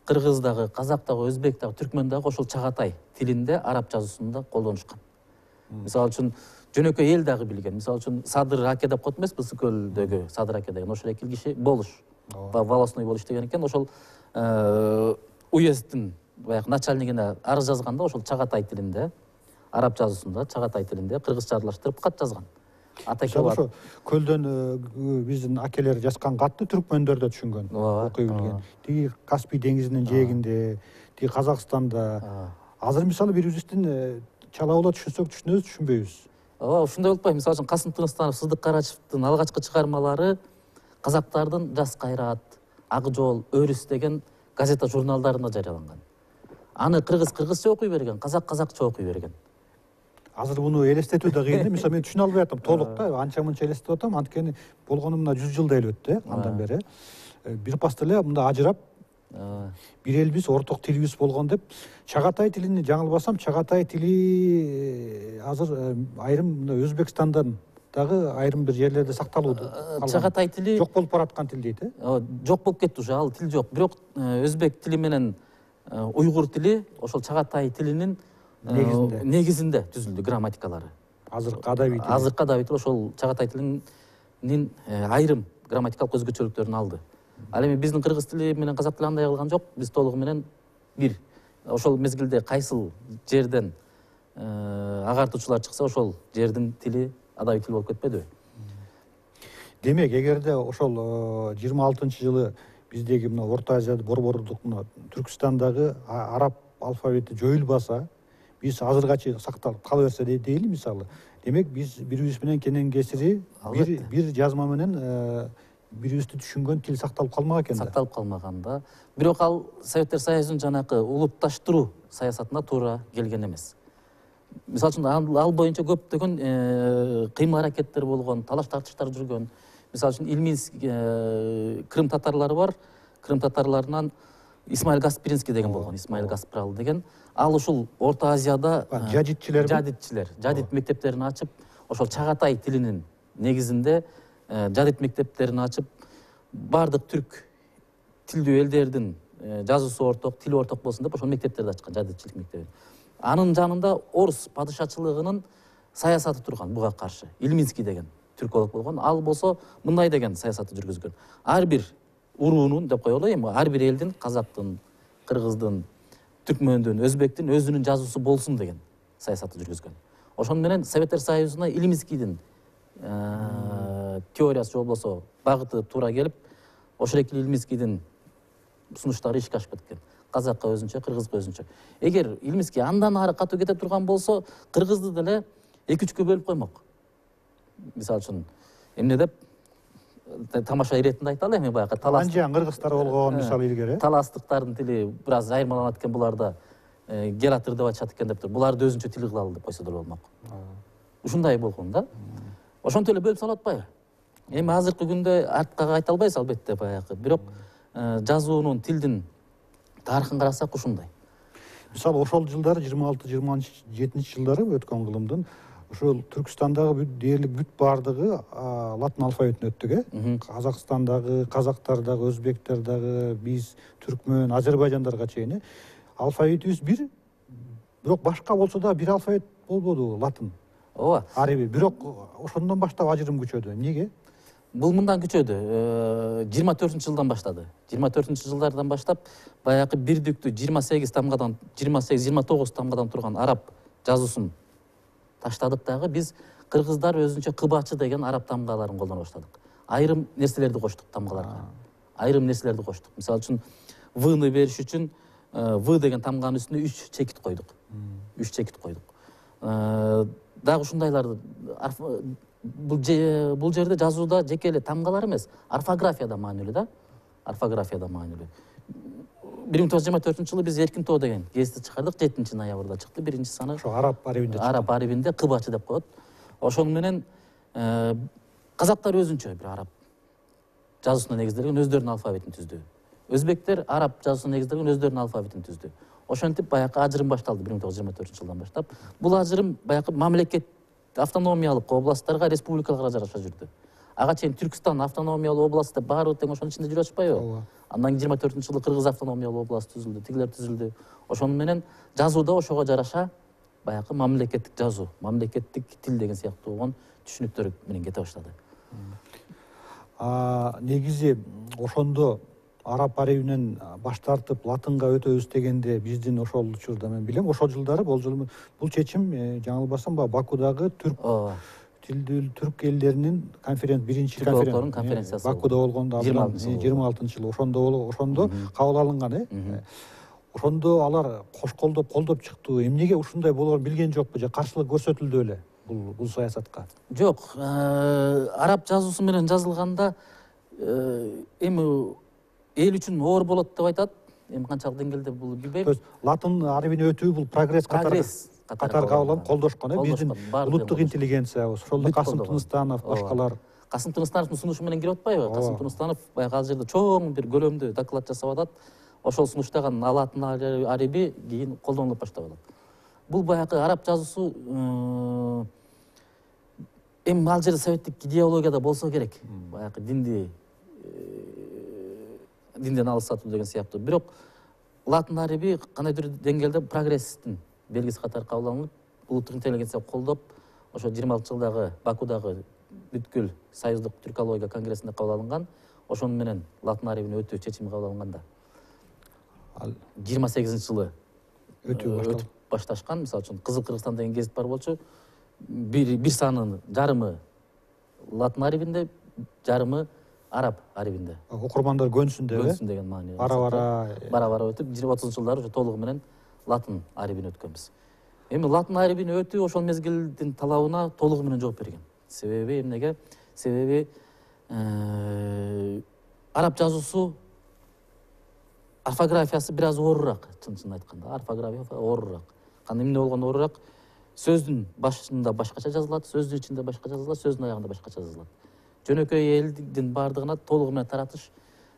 кыргыз дагы, казак дагы, өзбек дагы, түркмөн дагы ошол Чагатай тилинде араб жазуусунда колдонушкан. Мисалы үчүн жөнөкөй эл дагы билген. Мисалы үчүн Садыр Аке деп коет эмеспи, Ысык көлдөгү Садыр Аке деген ошол экил киши болуш, волостной болуш деген экен. Ошол уезддин баягы начальнигине арыз жазганда ошол Чагатай тилинде, араб жазуусунда Чагатай тилинде кыргызча аралаштырып кат жазган. Ошо көлдөн биздин акелер жазган катты түркмөндөр да түшүнгөн, окуй билген. Тиги Каспий деңизинин жээгинде, тиги Казакстанда. Азыр мисалы бирибиздин чала ула түшүнсөк түшүнөбүз, түшүнбөйбүз. Ушундай болуп атпайбы? Мисалы үчүн Касым Тыныстанов, Сыздык Карачевдин алгачкы чыгармалары казактардын Жас Кайрат, Ак жол, Өрүс деген газета журналдарында жарыяланган. Аны кыргызча окуй берген, казакча окуй берген. Азыр буну элестетүү да кыйын. Мисалы мен түшүнө албай атам толук да, анча-мынча элестеп атам, анткени болгону мына 100 жылдай эле өттү, андан бери. Бир паста эле мында ажырап, бир элбиз, орток тилибиз болгон деп, Чагатай тилини жаңылбасам, Чагатай тили азыр айрым Өзбекстандан дагы айрым бир жерлерде сакталууда. Чагатай тили жок болуп бараткан тил дейт, Жок болуп кетти уже, ал тил жок. Бирок өзбек тили менен уйгур тили ошол Чагатай тилинин негизинде түзүлдү грамматикалары. Азыркы адаби тил ошол Чагатай тилинин айрым грамматикалык өзгөчөлүктөрүн алды. Ал эми биздин кыргыз тили менен казак тили андай кылган жок, биз толугу менен бир. Ошол мезгилде кайсыл жерден агартуучулар чыкса, ошол жердин тили адаби тил болуп кетпедиби? Демек, эгерде ошол 26-жылы биздеги мына Орто Азияда борбордук мына Түркүстандагы араб алфавити жоюлбаса, биз азыргачы сакталып кала берсе дейли мисалы. Демек, биз бирибиз менен кенен кесири бир жазма менен бирибизди түшүнгөн тил сакталып калмак экен да. Сакталып калмаган да. Бирок ал Советтер Союзунун жанакы улутташтыруу саясатына туура келген эмес. Мисалы үчүн ал боюнча көптөгөн кыймыл-аракеттер болгон, талаш-тартыштар жүргөн. Мисалы үчүн Ильминск Крым татарлары бар. Крым татарларынан Исмаил Гаспринский деген болгон, Исмаил Гаспрал деген. Ал ушул Орто Азияда жадит мектептерин ачып, ошол Чагатай тилинин негизинде жадит мектептерин ачып, бардык түрк тилдүү элдердин жазуусу орток, тили орток болсун деп ошол мектептерди ачкан, жадитчилик мектебин. Анын жанында Орус падышачылыгынын саясаты турган буга каршы. Ильминский деген түрколог болгон. Ал болсо мындай деген саясатты жүргүзгөн. Ар бир уруунун деп коелу эми, ар бир элдин, казактын, кыргыздын, түркмөндүн, өзбектин өзүнүн жазуусу болсун деген саясатты жүргүзгөн. Ошону менен Советтер Союзуна Илимскийдин теориясы же болбосо багыты туура келип, ошол эки Илимскийдин сунуштары ишке ашып кеткен. Казакка өзүнчө, кыргызга өзүнчө. Эгер Илимский андан ары катуу кете турган болсо, кыргызды деле 2-3кө бөлүп коймок. Мисалы үчүн эмне деп тамаша иретинде айталы эми, баягы талас. Анжан кыргыздар болгон мисалы илгери. Таластыктардын тили бир аз айырмаланат экен буларда. Гелатыр деп айтышат экен деп тур. Буларды өзүнчө тил кылалы деп койсо да болмок. Ушундай болгон да. Ошентип эле бөлүп салып атпайбы? Эми азыркы күндө артка кайта албайбыз албетте баягы. Бирок жазуунун, тилдин тарыхын карасак ушундай. Мисалы ошол жылдары 26-27 жылдары өткөн кылымдын ошол Түркстандагы дээрлик бүт баардыгы латын алфавитине өттүк, Казакстандагы, казактардагы, өзбектердагы, биз түркмөн, азербайжандарга чейин алфавитибиз бир, бирок башка болсо да бир алфавит болбоду латын. Ооба. Ареби, бирок ошондон баштап ажырым күчөдү. Эмнеге? Бул мындан күчөдү. 24-жылдан баштады. 24-жылдардан баштап баягы бирдиктүү 28 тамгадан, 28-29 тамгадан турган араб жазуусун таштадык дагы, биз кыргыздар өзүнчө кыбачы деген араб тамгаларын колдоно баштадык. Айрым нерселерди коштук тамгаларга. Айрым нерселерди коштук. Мисалы үчүн в-ны бериш үчүн в деген тамганын үстүнө 3 чекит койдук. 3 чекит койдук. Дагы ушундайларды бул жерде жазууда жеке эле тамгалар эмес, орфографияда маанилүү да. Орфографияда маанилүү. 1924-жылы биз Эркин тоо деген гезитти чыгардык, 7-ноябрда чыкты, биринчи саны. Ошо араб арабинде чыкты. Араб арабинде кыбачы деп коет. Ошону менен казактар өзүнчө бир араб жазуусуна негизделген өздөрүнүн алфавитин түздү. Өзбектер араб жазуусуна негизделген өздөрүнүн алфавитин түздү. Ошентип баягы ажырым башталды 1924-жылдан баштап. Бул ажырым баягы мамлекет автономиялык областтарга, республикаларга жараша жүрдү. Ага чейин Түркстан автономиялуу област деп баары тең ошонун ичинде жүрүп атпайбы? Ооба. Андан кийин 24-жылы Кыргыз автономиялуу област түзүлдү, тигилер түзүлдү. Ошону менен жазууда ошого жараша баягы мамлекеттик жазуу, мамлекеттик тил деген сыяктуу болгон түшүнүктөр менен кете баштады. Негизи ошондо араб арабинен баш тартып латынга өтөбүз дегенде биздин ошол учурда мен билем, ошол жылдары бул чечим жаңылбасам Бакудагы түрк тилдүү түрк элдеринин биринчи конференциясы Бакуда болгондо 26-жылы ошондо кабыл алынган. Ошондо алар кош колдоп чыктı. Эмнеге ушундай болоорун билген жокпу же каршылык көрсөтүлдү эле бул саясатка? Жок, араб жазуусу менен жазылганда эми эл үчүн оор болот деп айтат. Эми канчалык деңгээлде бул билбейм. Латын арабине өтүү бул прогресс катары кабыл алып колдошкон, биздин улуттук интеллигенциябыз, ошол Касым Тыныстанов, башкалар. Касым Тыныстановдун сунушу менен кирип атпайбы? Касым Тыныстанов баягы ал жерде чоң бир көлөмдүү доклад жасап атат. Ошол сунуштаган латын араби кийин колдонулуп баштап атат. Бул баягы араб жазуусу эми ал жерде советтик идеологияда болсо керек. Баягы динден алысатуу деген сыяктуу. Бирок латын араби кандайдыр деңгээлде прогресстин белгиси катары кабыл алынып, улуттук интеллигенция колдоп, ошо 26-жылдагы Бакудагы бүткүл союздук түркология конгрессинде кабыл алынган. Ошону менен латын арабине өтүү чечими кабыл алынганда 28-жылы өтүп башташкан. Мисалы үчүн Кызыл Кыргызстан деген гезит бар болчу. Бир санын жарымы латын арабинде, жарымы араб арабинде. Окурмандар көнсүн деген маани. Бара-бара өтүп 30-жылдары уже толугу менен латын арабине өткөнбүз. Эми латын арабине өтүү ошол мезгилдин талабына толугу менен жооп берген. Себеби эмнеге? Себеби араб жазуусу орфографиясы бир аз оорураак, чын айтканда. Орфография оорураак. Кандай эмне болгону оорураак? Сөздүн башында башкача жазылат, сөздүн ичинде башкача жазылат, сөздүн аягында башкача жазылат. Жөнөкөй элдин баардыгына толугу менен таратыш,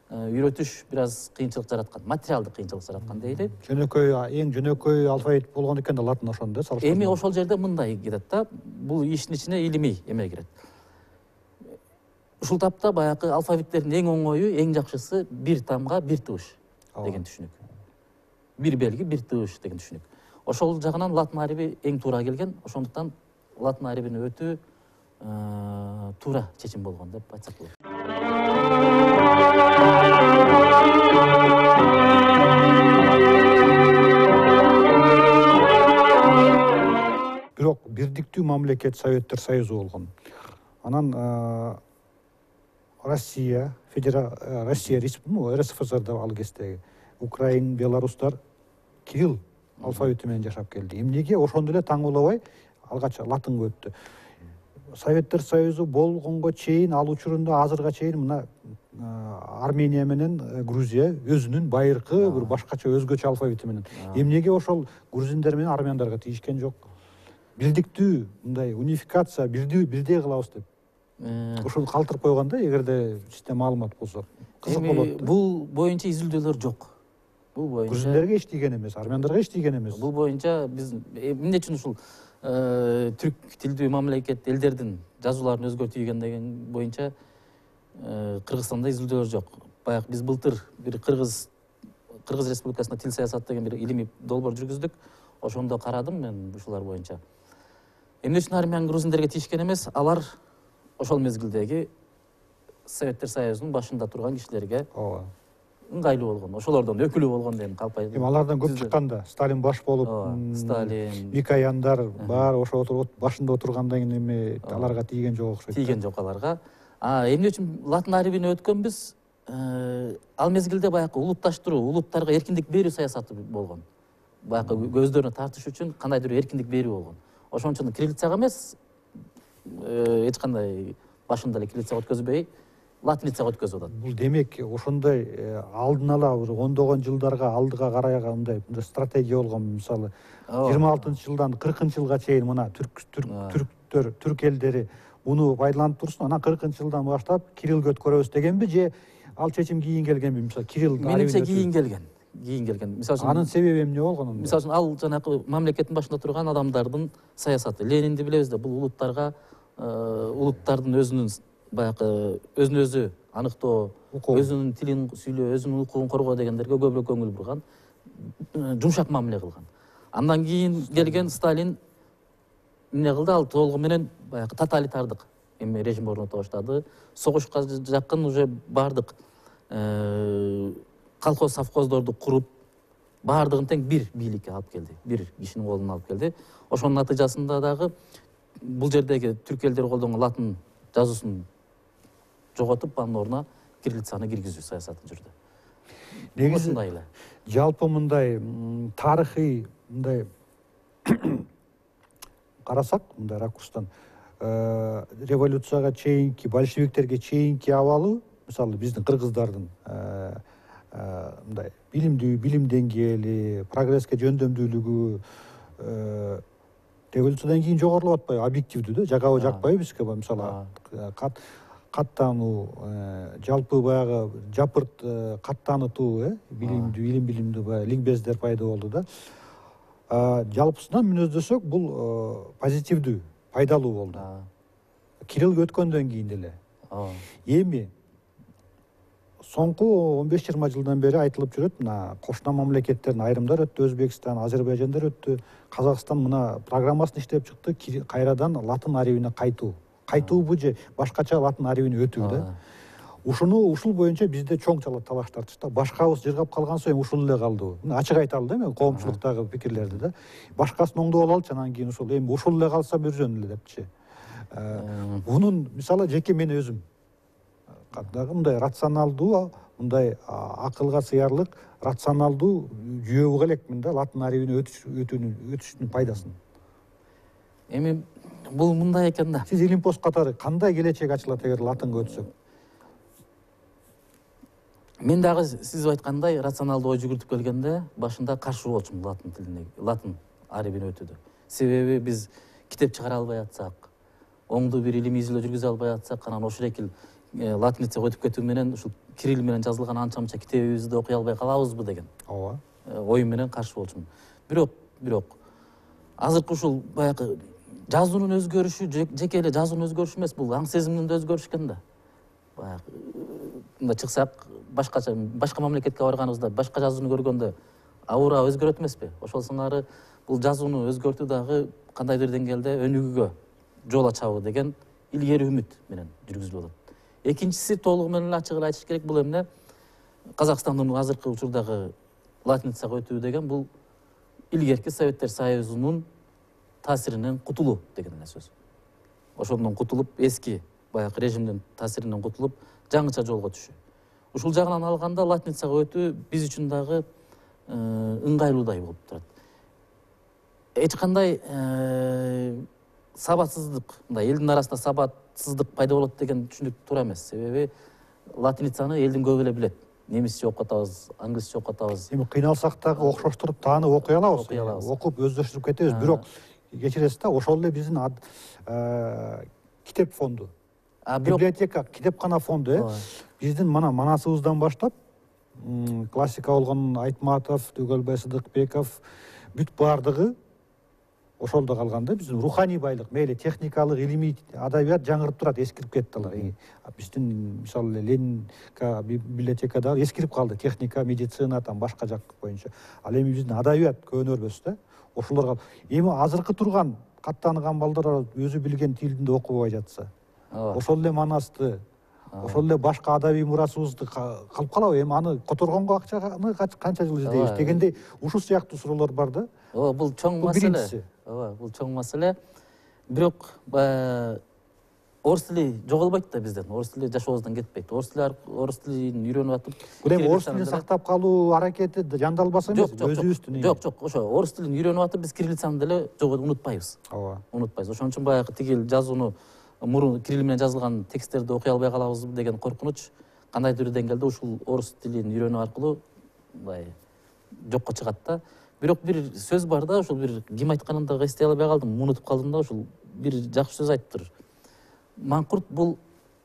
үйрөтүш бир аз кыйынчылык жараткан, материалдык кыйынчылык жараткан дейли. Эң жөнөкөй алфавит болгон экен да латын ошондо. Эми ошол жерде мындай кетет да, бул иштин ичине илимий эме кирет. Ушул тапта баягы алфавиттердин эң оңою, эң жакшысы бир тамга, бир тыбыш деген түшүнүк. Бир белги, бир тыбыш деген түшүнүк. Ошол жагынан латын араби эң туура келген. Ошондуктан латын арабине өтүү туура чечим болгон деп айтсак болот. Бирок бирдиктүү мамлекет Советтер Союзу болгон. Анан Россия РСФСР ал кездеги Украин, белорустар кирилл алфавити менен жашап келди. Эмнеге ошондо эле таңуулабай алгач латынга өттү? Советтер Союзу болгонго чейин ал учурунда азырга чейин мына Армения менен Грузия өзүнүн байыркы бир башкача өзгөчө алфавити менен. Эмнеге ошол грузиндер менен армяндарга тийишкен жок? Бирдиктүү мындай унификация бирдей кылабыз деп. Ошону калтырып койгондо эгерде система маалымат болсо кызык болот. Бул боюнча изилдөөлөр жок. Бул боюнча грузиндерге эч тийген эмес, армяндарга эч тийген эмес. Бул боюнча биз эмне үчүн ушул түрк тилдүү мамлекет элдердин жазууларын өзгөртүүгөн деген боюнча Кыргызстанда изилдөөлөр жок. Баягы биз былтыр бир Кыргыз Республикасында тил саясаты деген бир илимий долбоор жүргүздүк. Ошондо карадым мен ушулар боюнча. Эмне үчүн армян грузиндерге тийишкен эмес? Алар ошол мезгилдеги Советтер Союзунун башында турган кишилерге ыңгайлуу болгон, ошолордон өкүлү болгон деген калп. Эми алардан көп чыкканда Сталин баш болуп, Сталин, Микояндар баары ошо башында отургандан кийин эми аларга тийген жок окшойт. Тийген жок аларга. Эмне үчүн латын арабине өткөнбүз? Ал мезгилде баягы улутташтыруу, улуттарга эркиндик берүү саясаты болгон. Баягы көздөрүнө тартыш үчүн кандайдыр эркиндик берүү болгон. Ошон үчүн кириллицага эмес, эч кандай башында эле кириллицага өткөзбөй, латиницага өткөзүп атат. Бул демек ошондой алдын ала бир ондогон жылдарга алдыга карай мындай стратегия болгон. Мисалы 26-жылдан 40-жылга чейин мына түрк элдери муну пайдаланып турсун, анан 40-жылдан баштап кириллге өткөрөбүз дегенби же ал чечим кийин келгенби? Мисалы кирилл менимче кийин келген. Мисалы үчүн анын себеби эмне болгон? Мисалы үчүн ал жанагы мамлекеттин башында турган адамдардын саясаты. Ленинди билебиз да, бул улуттардын өзүнүн баягы өзүн өзү аныктоо, өзүнүн тилин сүйлөө, өзүнүн укугун коргоо дегендерге көбүрөөк көңүл бурган, жумшак мамиле кылган. Андан кийин келген Сталин эмне кылды? Ал толугу менен баягы тоталитардык режим орното баштады. Согушка жакын уже бардык колхоз совхоздорду куруп, баардыгын тең бир бийликке алып келди, бир кишинин колуна алып келди. Ошонун натыйжасында дагы бул жердеги түрк элдери колдонгон латын жазуусун жоготуп, анын ордуна кириллицаны киргизүү саясаты жүрдү. Негизи жалпы мындай тарыхый мындай карасак, мындай ракурстан революцияга чейинки, большевиктерге чейинки абалы, мисалы биздин кыргыздардын мындай билим деңгээли, прогресске жөндөмдүүлүгү революциядан кийин жогорулап атпайбы, объективдүү да, жагабы жакпайбы бизге. Мисалы каттануу, жалпы баягы жапырт каттанытуу, билимдүү баягы ликбездер пайда болду да. Жалпысынан мүнөздөсөк, бул позитивдүү, пайдалуу болду. Кириллге өткөндөн кийин деле. Эми соңку 15-20 жылдан бери айтылып жүрөт, мына кошуна мамлекеттердин айрымдар өттү, Өзбекстан, Азербайжандар өттү, Казакстан мына программасын иштеп чыкты, кайрадан латын арабине кайтуу. Кайтуубу же башкача латын арабине өтүү да. Ушул боюнча бизде чоң талаш тартышты. Башкабыз жыргап калган соң ушул эле калды. Ачык айталы да, мен коомчулуктагы пикирлерди да. Башкасын оңдоп алалычы, анан кийин ушул эле калса бир эле депчи. Бунун мисалы жеке мен өзүм мындай рационалдуу, мындай акылга сыярлык, рационалдуу жүйө элекмин да латын арабине өтүштүн пайдасын. Эми бул мындай экен да. Сиз илимпоз катары кандай келечек ачылат эгер латынга өтсөк? Мен дагы сиз айткандай рационалдуу ой жүгүртүп келгенде башында каршы болчумун латын тилине, латын арабине өтүүдө. Себеби биз китеп чыгара албай атсак, оңдуу бир илимий изилдөө жүргүзө албай атсак, анан ошол экил латиницага өтүп кетүү менен ушул кирилл менен жазылган анча-мынча китебибизди окуй албай калабызбы деген ой менен каршы болчумун. Бирок азыркы ушул баягы жазуунун өзгөрүшү жеке эле жазуунун өзгөрүшү эмес, бул аң сезимдин да өзгөрүшү экен да. Баягы мындай чыксак, башка мамлекетке барганыбызда башка жазууну көргөндө аура өзгөрөт эмеспи? Ошол сыңары бул жазууну өзгөртүү дагы кандайдыр деңгээлде өнүгүүгө жол ачабы деген илгери үмүт менен жүргүзүлүп атат. Экинчиси толугу менен ачык эле айтыш керек, бул эмне Казакстандын азыркы учурдагы латиницага өтүү деген бул илгерки Советтер Союзунун таасиринен кутулуу деген эле сөз. Ошондон кутулуп, эски баягы режимдин таасиринен кутулуп, жаңыча жолго түшүү. Ушул жагынан алганда латиницага өтүү биз үчүн дагы ыңгайлуудай болуп турат. Эч кандай сабатсыздык, мындай элдин арасында сабатсыздык пайда болот деген түшүнүк туура эмес. Себеби латиницаны элдин көбү эле билет. Немисче окуп атабыз, англисче окуп атабыз. Эми кыйналсак дагы окшоштуруп таанып окуй алабыз. Окуп өздөштүрүп кетебиз, бирок кечиресиз да, ошол эле биздин китеп фонду, библиотека, китепкана фонду биздин манасыбыздан баштап классика болгон Айтматов, Түгөлбай Сыдыкбеков бүт баардыгы ошолдо калган да. Биздин руханий байлык, мейли техникалык, илимий адабият жаңырып турат, эскирип кетти алар. Биздин мисалы Ленин библиотекадагы эскирип калды, техника, медицина, башка жак боюнча. Ал эми биздин адабият көөнөрбөс да. Ошолор эми азыркы турган каттаныган балдар өзү билген тилинде окубай жатса, ошол эле манасты, ошол эле башка адабий мурасыбызды калып калабы? Эми аны которгонго акчаны канча жыл издейбиз дегендей ушул сыяктуу суроолор бар да. Бул чоң маселе. Бул чоң маселе. Бирок орус тили жоголбойт да бизден. Орус тили жашообуздан кетпейт. Орус тилин үйрөнүп атып, бул эми орус тилин сактап калуу аракети жандалбаса эмес, өзүбүздүн. Жок, ошо орус тилин үйрөнүп атып, биз кириллицаны деле унутпайбыз. Унутпайбыз. Ошон үчүн баягы тигил жазууну мурун кирилл менен жазылган тексттерди окуй албай калабыз деген коркунуч кандайдыр бир деңгээлде ушул орус тилин үйрөнүү аркылуу мындай жокко чыгат да. Бирок бир сөз бар да, ушул бир ким айтканын да эстей албай калдым, унутуп калдым да, ушул бир жакшы сөз айтыптыр. Маңкурт бул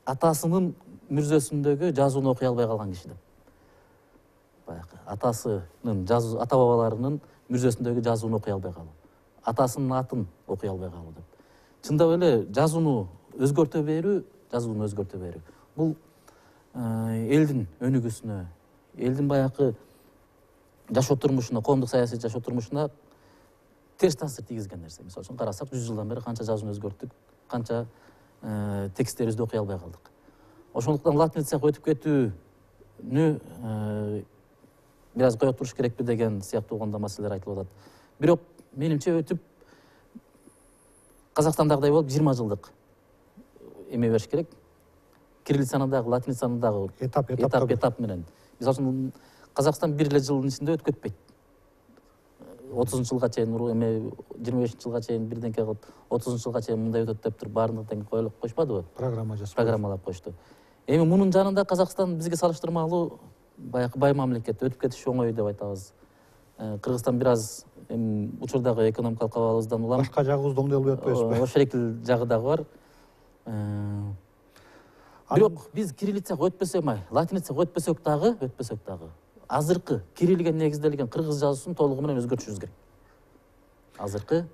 атасынын мүрзөсүндөгү жазууну окуй албай калган киши деп. Баягы атасынын ата бабаларынын мүрзөсүндөгү жазууну окуй албай калуу, атасынын атын окуй албай калуу деп. Чындап эле жазууну өзгөртө берүү, бул элдин өнүгүүсүнө, элдин баягы жашоо турмушуна, коомдук саясий жашоо турмушуна терс таасир тийгизген нерсе. Мисалы үчүн карасак, 100 жылдан бери канча жазууну өзгөрттүк, канча тексттерибизди окуй албай калдык. Ошондуктан латиницага өтүп кетүүнү бир аз кое туруш керекпи деген сыяктуу болгондо маселелер айтылып атат. Бирок менимче өтүп Казакстандагыдай болуп 20 жылдык эме бериш керек. Кириллицаны дагы, латиницаны дагы этап менен. Мисалы үчүн Казакстан бир эле жылдын ичинде өтүп кетпейт. 30-жылга чейин, 25-жылга чейин бирденке кылып, 30-жылга чейин мындай өтөт деп туруп баарын тең койшпадыбы? Программалап койушту. Эми мунун жанында Казакстан бизге салыштырмалуу баягы бай мамлекет, өтүп кетиш оңой деп айтабыз. Кыргызстан бир аз эми учурдагы экономикалык абалыбыздан улам башка жагыбызды оңдой албай атпайбызбы? Ошол экил жагы дагы бар. Бирок биз кириллицага өтпөсөк, латиницага өтпөсөк дагы азыркы кириллге негизделген кыргыз жазуусун толугу менен өзгөртүшүбүз керек. Азыркы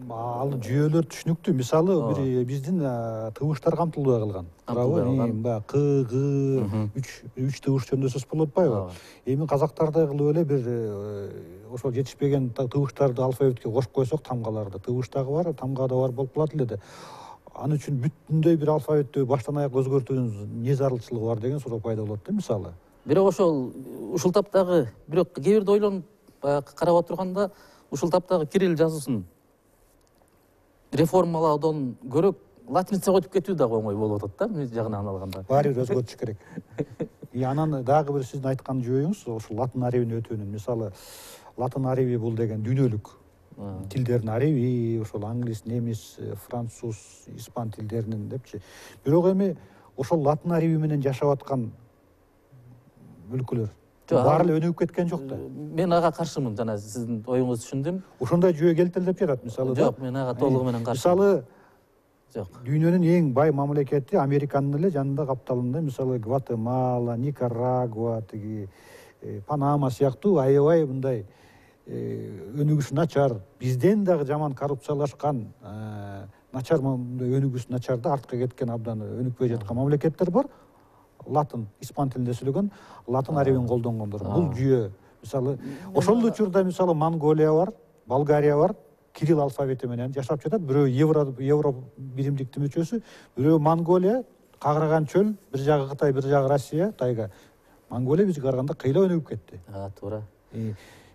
ал жүйөлөр түшүнүктүү. Мисалы биздин тыбыштар камтылбай калган. Туурабы? К, Г, 3 тыбыш жөнүндө сөз болуп атпайбы? Эми казактардай кылып эле бир ошол жетишпеген тыбыштарды алфавитке кошуп койсок, тамгаларды, тыбыш дагы бар, тамга да бар болуп калат эле да. Аны үчүн бүтүндөй бир алфавитти баштан аяк өзгөртүүнүн эмне зарылчылыгы бар деген суроо пайда болот да, мисалы. Бирок ушул таптагы, бирок кээ бирде ойлонуп карап отурганда, ушул таптагы кирилл жазуусун реформалоодон көрө латиницага өтүп кетүү дагы оңой болуп атат да, мына жагынан алганда. Баары бир өзгөртүш керек. Анан дагы бир сиздин айткан жүйөңүз ошол латын арабине өтүүнүн. Мисалы, латын араби бул деген дүйнөлүк тилдердин араби, ошол англис, немис, француз, испан тилдеринин депчи. Бирок эми ошол латын араби менен жашап аткан өлкөлөр баары эле өнүгүп кеткен жок да. Мен ага каршымын, жана сиздин оюңузду түшүндүм. Ошондой жүйө келтелдеп жатат, мисалы. Жок, мен ага толугу менен каршымын. Мисалы, дүйнөнүн эң бай мамлекети Американын эле жанында капталында, мисалы, Гватемала, Никарагуа, Панама сыяктуу аябай мындай өнүгүшү начар, бизден дагы жаман коррупциялашкан, начар өнүгүүсү начар да, артка кеткен, абдан өнүкпөй жаткан мамлекеттер бар. Латын, испан тилинде сүйлөгөн, латын арабин колдонгондор. Бул жүйө, мисалы, ошол учурда мисалы Монголия бар, Болгария бар, кирилл алфавити менен жашап жатат. Бирөө евро биримдиктин мүчөсү, бирөө Монголия, кагыраган чөл, бир жагы Кытай, бир жагы Россия, тайга. Монголия бизге караганда кыйла өнүгүп кетти. Туура.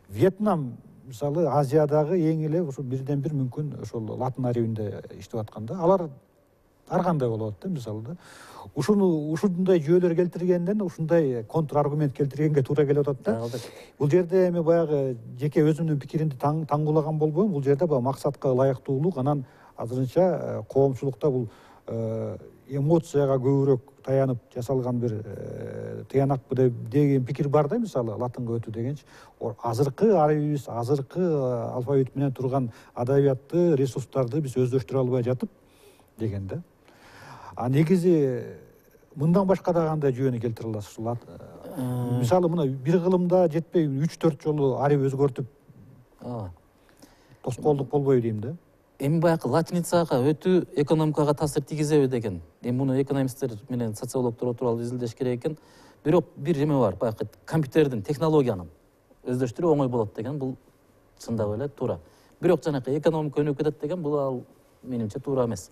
Вьетнам мисалы Азиядагы эң эле ошо бирден бир мүмкүн ошол латын арийинде иштеп атканда, алар ар кандай болот да, мисалы да. Ушундай жүйөлөр келтиргенден ушундай контр аргумент келтиргенге туура келип атат да. Бул жерде эми баягы жеке өзүмдүн пикиримди таңгуулаган болбойм. Бул жерде баягы максатка ылайыктуулук, анан азырынча коомчулукта бул эмоцияга көбүрөөк таянып жасалган бир тыянакпы деген пикир бар да, мисалы латынга өтүү дегенчи. Азыркы арийибиз, азыркы алфавит менен турган адабиятты, ресурстарды биз өздөштүрө албай жатып деген да. Негизи мындан башка да кандай жүйөнү келтире аласыз? Мисалы мына бир кылымда жетпей 3-4 жолу арий өзгөртүп тоскоолдук болбойбу дейм да. Эми баягы латиницага өтүү экономикага таасир тийгизеби деген. Эми муну экономисттер менен социологдор отуруп алып изилдеш керек экен. Бирок бир эме бар, баягы компьютердин, технологиянын өздөштүрүү оңой болот деген, бул чындап эле туура. Бирок жанакы экономика өнүгүп кетет деген, бул ал менимче туура эмес.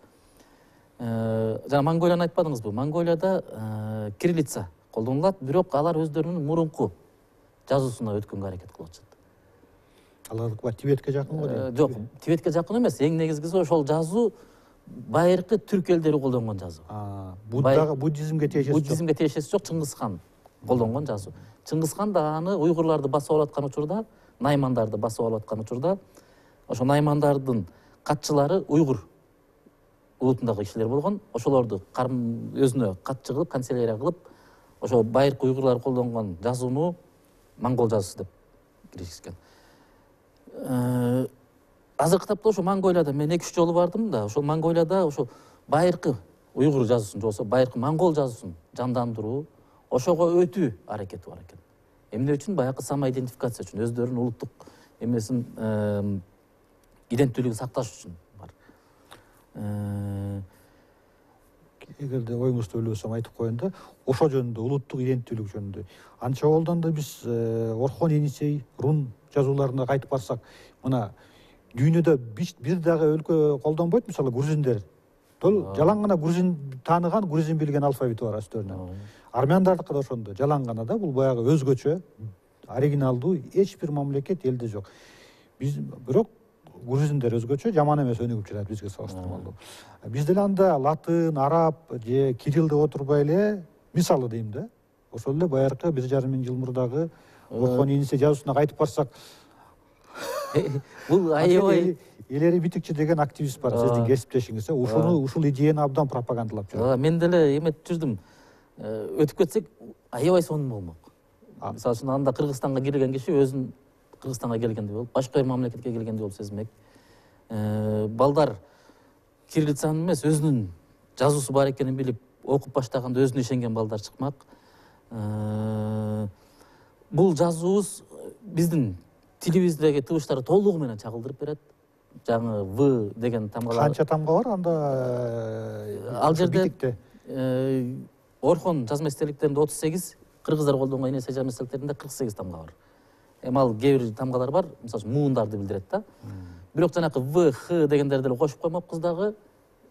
Жана Монголияны айтпадыңызбы? Монголияда кириллица колдонулат, бирок алар өздөрүнүн мурунку жазуусуна өткөнгө аракет кылып атышат. Алар Тибетке жакын го? Жок, Тибетке жакын эмес. Эң негизгиси ошол жазуу байыркы түрк элдери колдонгон жазуу. Буддизмге тиешеси жок. Буддизмге тиешеси жок, Чыңгыз хан колдонгон жазуу. Чыңгыз хан да аны уйгурларды басып алып аткан учурда, наймандарды басып алып аткан учурда, ошо наймандардын катчылары уйгур улутундагы кишилер болгон. Ошолорду өзүнө катчы кылып, канцелярия кылып, ошо байыркы уйгурлар колдонгон жазууну монгол жазуусу деп киргизген. Азыркы тапта ошо Монголияда мен 2-3 жолу бардым да, ошол Монголияда ошо байыркы уйгур жазуусун, жоксо байыркы монгол жазуусун жандандыруу, ошого өтүү аракети бар экен. Эмне үчүн? Баягы самоидентификация үчүн, өздөрүнүн улуттук эмесин, иденттүүлүгүн сакташ үчүн бар. Эгерде оюңузду бөлбөсөм айтып коеюн да, ошо жөнүндө, улуттук иденттүүлүк жөнүндө. Анча болдон да биз Орхон Енисей, рун жазууларына кайтып барсак, мына дүйнөдө бир дагы өлкө колдонбойт, мисалы грузиндер. Жалаң гана грузин тааныган, грузин билген алфавити бар өздөрүнүн. Армяндардыкы да ошондой, жалаң гана да, бул баягы өзгөчө, оригиналдуу, эч бир мамлекет элде жок. Бирок грузиндер өзгөчө, жаман эмес өнүгүп жатат бизге салыштырмалуу. Биз деле анда латын, араб же кирилл деп отурбай эле, мисалы дейм да, ошол эле байыркы 1,5 миң жыл мурдагы Орхон Енисей жазуусуна кайтып барсак, бул аябай Элери Битикчи деген активист бар, сиздин кесиптешиңиз. Ушул идеяны абдан пропагандалап жүрөт. Мен деле эметип жүрдүм. Өтүп кетсек, аябай сонун болмок. Мисалы үчүн анда Кыргызстанга кирген киши өзүн Кыргызстанга келгендей болуп, башка бир мамлекетке келгендей болуп сезмек. Балдар кириллицаны эмес, өзүнүн жазуусу бар экенин билип, окуп баштаганда өзүнө ишенген балдар чыкмак. Бул жазуубуз биздин тилибиздеги тыбыштарды толугу менен чагылдырып берет. Жаңы В деген тамгалар. Канча тамга бар анда? Ал жерде Орхон жазма эстеликтеринде 38, кыргыздар колдонгон Енисей жазма эстеликтеринде 48 тамга бар. Ал кээ бир тамгалар бар, мисалы муундарды билдирет да. Бирок жанакы В, Х дегендерди эле кошуп коймокпуз дагы,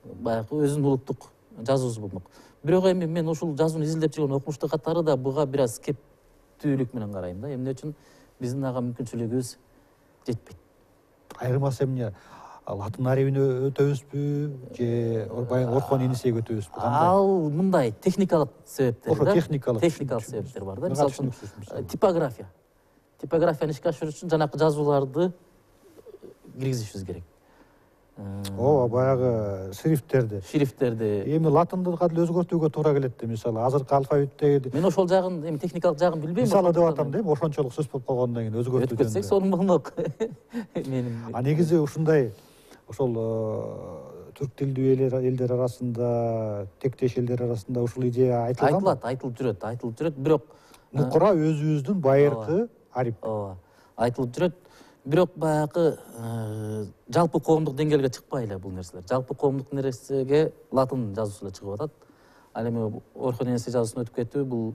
баягы өзүнүн улуттук жазуусу болмок. Бирок эми мен ушул жазууну изилдеп жүргөн окумуштуу катары да буга бир аз кептүүлүк менен карайм да. Эмне үчүн? Биздин ага мүмкүнчүлүгүбүз жетпейт. Айырмасы эмне? Латын арийине өтөбүзбү же Орхон Енисейге өтөбүзбү? Ал мындай техникалык себептер да. Техникалык себептер бар да. Мисалы үчүн типография. Типографияны ишке ашыруу үчүн жанакы жазууларды киргизишибиз керек. Ооба, баягы шрифттерди. Эми латындыга деле өзгөртүүгө туура келет да, мисалы азыркы алфавиттеги. Мен ошол жагын, эми техникалык жагын билбейм. Мисалы деп атам да, ошончолук сөз болуп калгандан кийин өзгөртүү. Өтүп кетсек, сонун болмок. Негизи ушундай ошол түрк тилдүү элдер арасында, тектеш элдер арасында ушул идея айтылган. Айтылып жүрөт, бирок мукура өзүбүздүн байыркы арип. Ооба, айтылып жүрөт. Бирок баягы жалпы коомдук деңгээлге чыкпай эле бул нерселер. Жалпы коомдук нерсеге латын жазуусу эле чыгып атат. Ал эми Орхон Енисей жазуусуна өтүп кетүү бул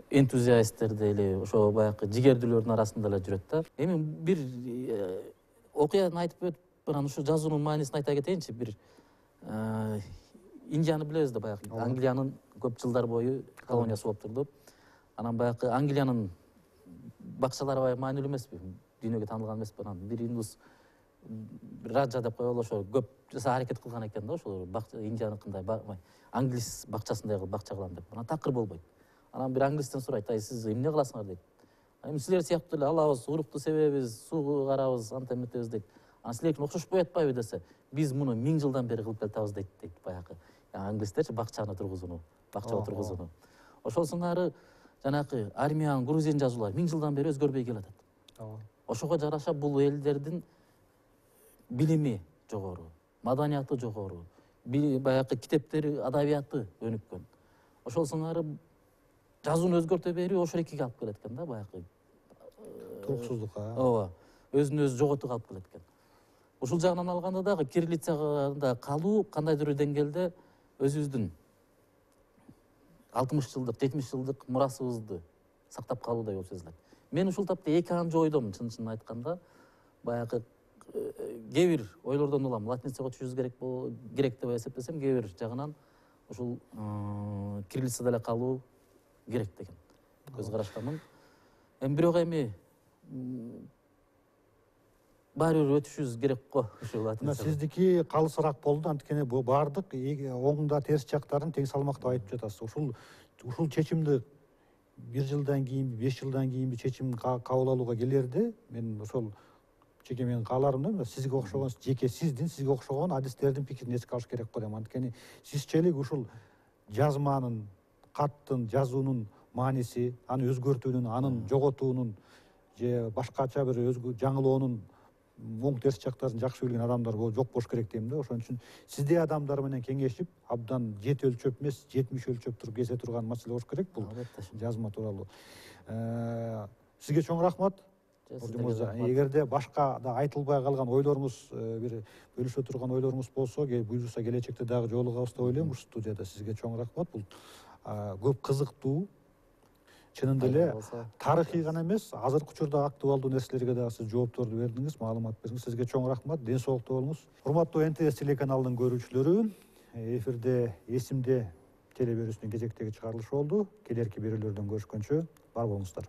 энтузиасттерде эле, ошо баягы жигердүүлөрдүн арасында эле жүрөт да. Эми бир окуяны айтып анан ушу жазуунун маанисин айта кетейинчи. Бир Индияны билебиз да, баягы Англиянын көп жылдар бою колониясы болуп турду. Анан баягы Англиянын бакчалары аябай маанилүү эмеспи? Дүйнөгө таанылган эмеспи? Анан бир индус раджа деп коелу, ошо көп аракет кылган экен да, ошол Индияныкындай англис бакчасындай кылып бакча кылам деп. Анан такыр болбойт. Анан бир англистен сурайт: "Ай, сиз эмне кыласыңар?" дейт. "Эми силер сыяктуу эле алабыз, урукту себебиз, суу карабыз, антип метебиз" дейт. "Анан силердикине окшошпой атпайбы?" десе, "Биз муну 1000 жылдан бери кылып келатабыз" дейт баягы. Англистерчи бакчаны тургузууну, бакча тургузууну. Ошол сыңары жанакы Армян, Грузин жазуулары 1000 жылдан бери өзгөрбөй келатат. Ошого жараша бул элдердин билими жогору, маданияты жогору, баягы китептери, адабияты өнүккөн. Ошол сыңары жазууну өзгөртө берүү ошол экиге алып келет экен да, баягы туруксуздукка. Ооба, өзүн өзү жоготууга алып келет экен. Ушул жагынан алганда дагы кириллицага калуу кандайдыр бир деңгээлде өзүбүздүн 60 жылдык, 70 жылдык мурасыбызды сактап калуудай болуп сезилет. Мен ушул тапта эки анча ойдомун, чын айтканда. Баягы кээ бир ойлордон улам латиницага көчүрүш керек деп эсептесем, кээ бир жагынан ушул кириллицада эле калуу керек деген көз караштамын. Бирок баары бир өтүшүбүз керек го ушул латиница. Сиздики калысыраак болду, анткени бул баардык оң да терс жактарын тең салмактап айтып жатасыз. Ушул чечимди 1 жылдан кийин, 5 жылдан кийин чечим кабыл алууга келерде, мен ошол жеке менин кааларым да, сизге окшогон, жеке сизге окшогон адистердин пикирин эске алыш керек го дейм. Анткени сизчелик ушул жазманын, каттын, жазуунун мааниси, аны өзгөртүүнүн, анын жоготуунун же башкача бир жаңылоонун оң терс жактарын жакшы билген адамдар жок болуш керек дейм да. Ошон үчүн сиздей адамдар менен кеңешип, абдан 7 өлчөп эмес, 70 өлчөп туруп кесе турган маселе болуш керек бул жазма тууралуу. Сизге чоң рахмат. Эгерде башка да айтылбай калган ойлоруңуз, бир бөлүшө турган ойлоруңуз болсо, буюрса келечекте дагы жолугабыз деп ойлойм ушул студияда. Сизге чоң рахмат. Бул көп кызыктуу, чынында эле тарыхый гана эмес, азыркы учурда актуалдуу нерселерге дагы сиз жоопторду бердиңиз, маалымат бердиңиз. Сизге чоң рахмат. Ден соолукта болуңуз. Урматтуу НТС телеканалынын көрүүчүлөрү, эфирде Эсимде телеберүүсүнүн кезектеги чыгарылышы болду. Келерки берүүлөрдөн көрүшкөнчө бар болуңуздар.